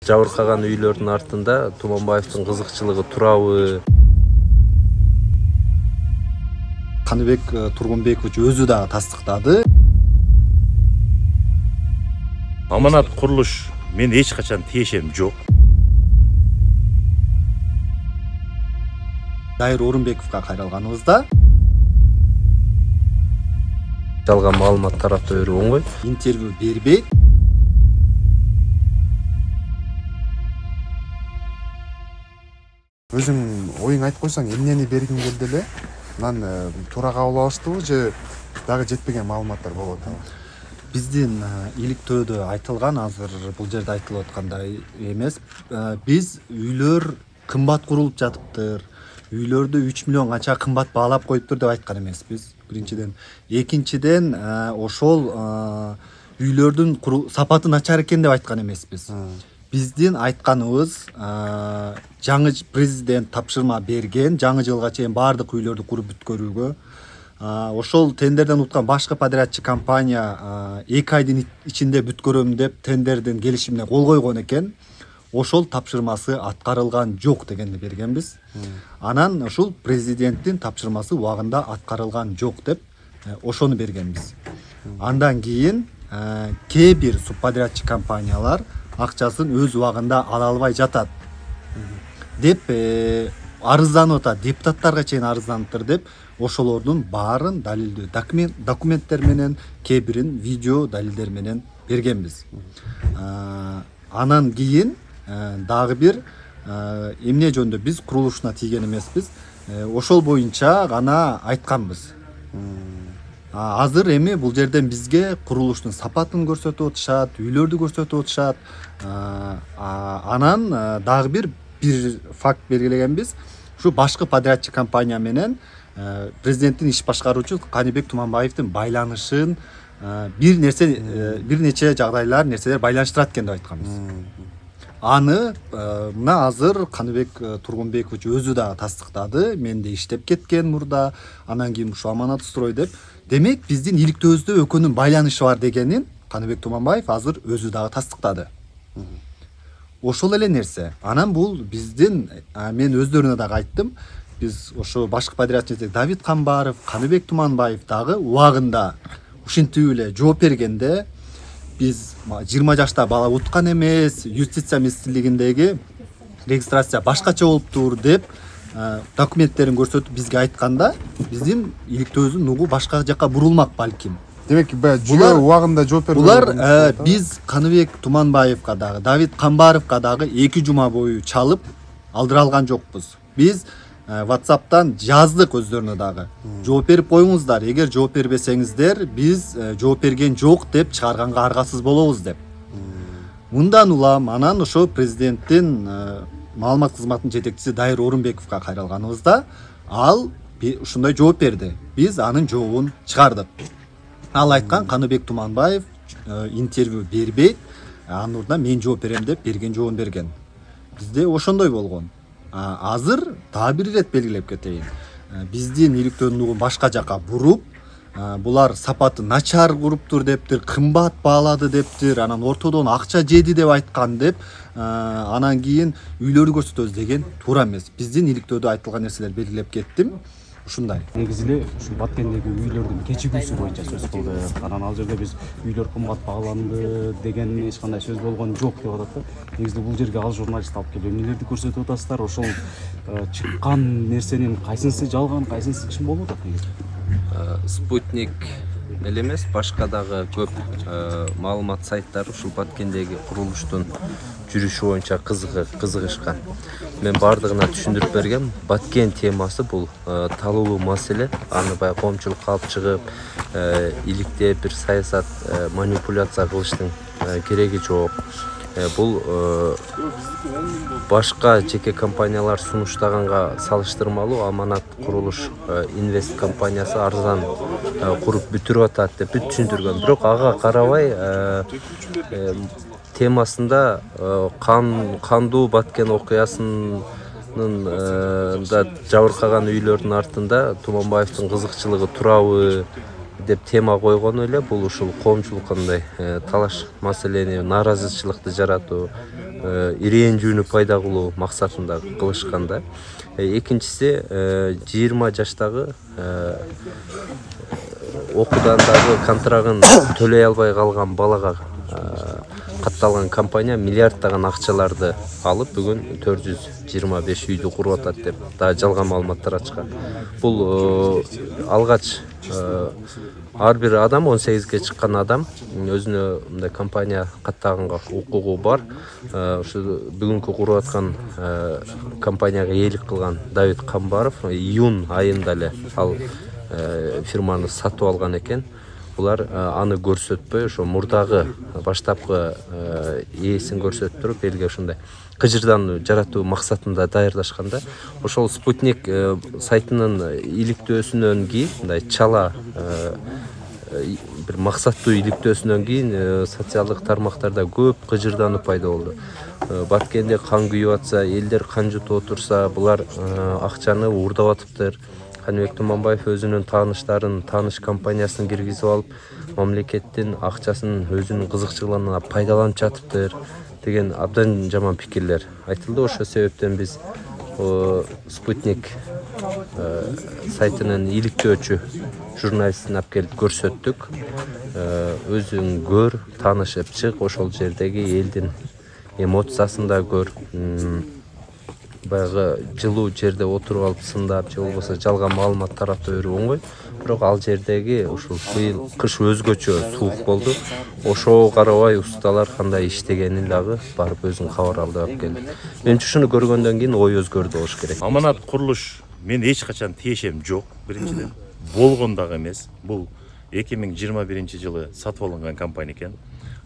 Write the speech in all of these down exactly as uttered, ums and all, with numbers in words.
жабыркаган үйлөрдүн артында Туманбаевдин кызыкчылыгы турабы? Каныбек Тургунбекович өзү дагы тастыктады. Аманат курулуш мен эч качан тиешем жок. Дайыр Орунбековго кайрылганыбызда жалган маалымат тарата берүү оңой. Интервью бербейт. Өзүң оюң айтып койсоң, эмнени бергиң келди эле? Анан туура кабыл алыштыбы же дагы жетпеген маалыматтар болуп атабы? Биздин иликтөөдө айтылган, азыр бул жерде айтылып аткандай эмес. Биз үйлөр кымбат курулуп жатыптыр, үйлөрдү үч миллион канча кымбат баалап коюптур деп айткан эмеспиз. Биринчиден, экинчиден ошол үйлөрдүн сапаты начар экен деп айткан эмеспиз. Биздин айтканыбыз, жаңы президент тапшырма берген, жаңы жылга чейин баардык үйлөрдү куруп бүткөрүүгө. Ошол тендерден уткан башкы подрядчы компания эки айдын ичинде бүткөрөм деп тендердин келишимине кол койгон экен. Ошол тапшырмасы аткарылган жок дегенди бергенбиз. Анан ушул президенттин тапшырмасы убагында аткарылган жок деп ошону бергенбиз. Андан кийин кээ бир субподрядчы компаниялар акчасын өз убагында ала албай жатат деп арызданып атат, депутаттарга чейин арызданыптыр деп ошолордун баарын далилдүү документтер менен, кээ бирин видео далилдер менен бергенбиз. Анан кийин дагы бир эмне жөнүндө биз курулушуна тийген эмеспиз. Ошол боюнча гана айтканбыз. Азыр эми бул жерден бизге курулуштун сапатын көрсөтүп атышат, үйлөрдү көрсөтүп атышат. Анан дагы бир бир факт белгилегенбиз. Ушу башкы подрядчы компания менен президенттин иш башкаруучу Каныбек Туманбаевдин байланышын бир нерсе, бир нече жагдайлар, нерселер байланыштырат экен деп айтканбыз. Аны мына азыр Каныбек Тургунбекович өзү дагы тастыктады. Менде иштеп кеткен мурда, анан кийин ушу Аманат строй деп. Демек, биздин иликтөөбүздө экөөнүн байланышы бар дегенин Каныбек Туманбаев азыр өзү дагы тастыктады. Ошол эле нерсе. Анан бул биздин, мен өздөрүнө дагы айттым, биз ошо башкы подрядчы Давид Камбаров, Каныбек Туманбаев дагы убагында ушинтип эле жооп бергенде биз жыйырма жашта бала уткан эмес, юстиция министрлигиндеги регистрация башкача болуптур деп документтерин көрсөтүп бизге айтканда, биздин иликтөөбүздүн нугу башка жака бурулмак балким. Демек, жөө убагында жооп берүү. Булар биз Каныбек Туманбаевга дагы, Давид Камбаровго дагы эки жума бою чалып алдыра алган жокпуз. Биз WhatsApp'тан жаздык өздөрүнө дагы. Жооп берип коюңуздар, эгер жооп бербесеңиздер, биз жооп берген жок деп чыгарганга аргасыз болобуз деп. Мындан улам анан ошо президенттин маалымат кызматынын жетекчиси Дайыр Орунбековго кайрылганыбызда, ал ушундай жооп берди. Биз анын жообун чыгардык. Ал айткан, Каныбек Туманбаев интервью бербейт, анын ордуна мен жооп берем деп берген жообун берген. Бизде ошондой болгон. Азыр дагы бир ирет белгилеп кетейин. Биздин иликтөөнүн нугун башка жака буруп, булар сапаты начар куруптур дептир, кымбат баалады дептир, анан ортодон акча жеди деп айткан деп, анан кийин үйлөрдү көрсөтөбүз деген туура эмес. Биздин иликтөөдө айтылган нерселер белгилеп кеттим. Ушундай. Негизи эле ушу Баткендеги үйлөрдүн кечигүүсү боюнча сөз кылдык. Анан ал жерде биз үйлөр кымбат бааланды деген эч кандай сөз болгон жок деп атат да. Негизи бул жерге ал журналист алып келип эмнелерди көрсөтүп атасыздар? Ошол чыккан нерсенин кайсынысы жалган, кайсынысы чын болуп атат негизи? Спутник эле эмес, башка дагы көп маалымат сайттары ушул Баткендеги курулуштун жүрүшү боюнча кызыгышкан. Мен бардыгына түшүндүрүп бергем. Баткен темасы бул талуу маселе. Аны баягы коомчулукка алып чыгып, иликтеп бир саясат манипуляция кылыштын кереги жок. Бул башка жеке компаниялар сунуштаганга салыштырмалуу Аманат курулуш инвест компаниясы арзан куруп бүтүрүп атат деп түшүндүргөн. Бирок ага карабай темасында кандуу Баткен окуясынын да жабыркаган үйлөрдүн артында Туманбаевдин кызыкчылыгы турабы деп тема койгон эле. Бул ушул коомчулукка мындай талаш маселени, нааразычылыкты жаратуу, ирээндүүнү пайда кылуу максатында кылышкан да. Экинчиси жыйырма жаштагы окуудан дагы контрагын төлөй албай калган балага катталган компания миллиарддаган акчаларды алып бүгүн төрт жүз жыйырма беш үйдү куруп атат деп дагы жалган маалыматтар ачкан. Бул алгач ар бир адам он сегизге чыккан адам өзүнө мындай компания каттаганга укугу бар. Ушу бүгүнкү куруп аткан компанияга ээлик кылган Давид Камбаров июнь айында эле ал фирманы сатып алган экен. Булар аны көрсөтпөй, ошо мурдагы баштапкы ээсин көрсөтүп туруп, элге ушундай кыжырдан жаратуу максатында даярдашканда, ошол Спутник сайтынын иликтөөсүнөн кийин, мындай чала бир максаттуу иликтөөсүнөн кийин социалдык тармактарда көп кыжырдануу пайда болду. Баткенде кан күйүп атса, элдер кан жутуп отурса, булар акчаны уурдап атыптыр. Каныбек Туманбаев өзүнүн тааныштарын тааныш компаниясына киргизип алып, мамлекеттин акчасын өзүнүн кызыкчылыгына пайдаланып жатыптыр деген абдан жаман пикирлер айтылды. Ошол себептен биз Спутник сайтынын иликтөөчү журналистин алып келип көрсөттүк. Өзүң көр, таанышып чык, ошол жердеги элдин эмоциясын да көр. Баягы жылуу жерде отуруп алып сындап, же болбосо жалган маалымат таратып берүү оңой. Бирок ал жердеги ушул быйыл кыш өзгөчө суук болду. Ошого карабай усталар кандай иштегенин дагы барып өзүң кабар алып алып келди. Менимче ушуну көргөндөн кийин ой өзгөрдү болуш керек. Аманат курулуш мен эч качан тиешем жок. Биринчиден болгон дагы эмес. Бул эки миң жыйырма биринчи жылы сатып алынган компания экен.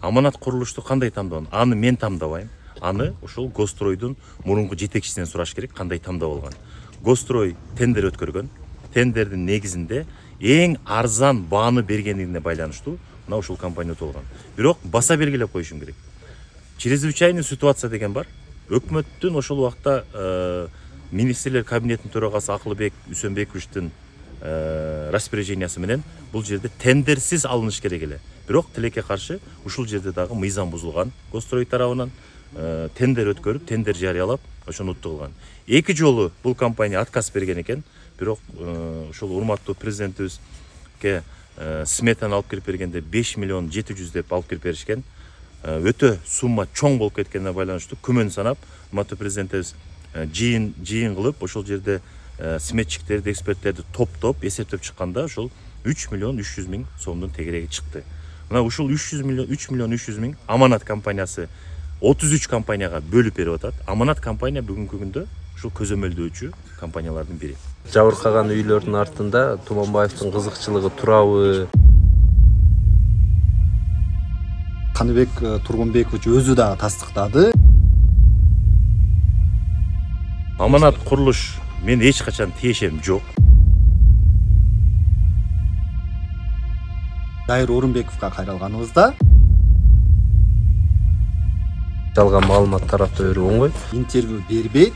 Аманат курулушту кандай тамдаган? Аны мен тамдабайм. Аны ушул Гостройдун мурунку жетекчисинен сураш керек, кандай тамдап алган. Гострой тендер өткөргөн. Тендердин негизинде эң арзан бааны бергендигине байланыштуу мына ушул компания өтүп алган. Бирок баса белгилеп коюшум керек. Чрезвычайный ситуация деген бар. Өкмөттүн ошол убакта министрлер кабинетинин төрагасы Акылбек Үсөнбековичтин распоряжениясы менен бул жерде тендерсиз алыныш керек эле. Бирок тилекке каршы ушул жерде дагы мыйзам бузулган. Гострой тарабынан тендер өткөрүп, тендер жарыялап, ошону утту кылган. Эки жолу бул компания отказ берген экен. Бирок ушул урматтуу президентибизге сметаны алып келип бергенде беш миллион жети жүз деп алып келип беришкен. Өтө сумма чоң болуп кеткенине байланыштуу күмөн санап, урматтуу президентибиз жыйын жыйын кылып, ошол жерде сметчиктерди, эксперттерди топтоп, эсептеп чыкканда ошол үч миллион үч жүз миң сомдун тегереги чыкты. Мына ушул үч миллион үч жүз миң Аманат компаниясы отуз үч компанияга бөлүп берип атат. Аманат компания бүгүнкү күндө ушул көзөмөлдөөчү компаниялардын бири. Жабыркаган үйлөрдүн артында Туманбаевдин кызыкчылыгы турабы? Каныбек Тургунбекович өзү дагы тастыктады. Аманат курулуш мен эч качан тиешем жок. Дайыр Орунбековго кайрылганыбызда жалган маалымат таратып берүү оңой. Интервью бербейт.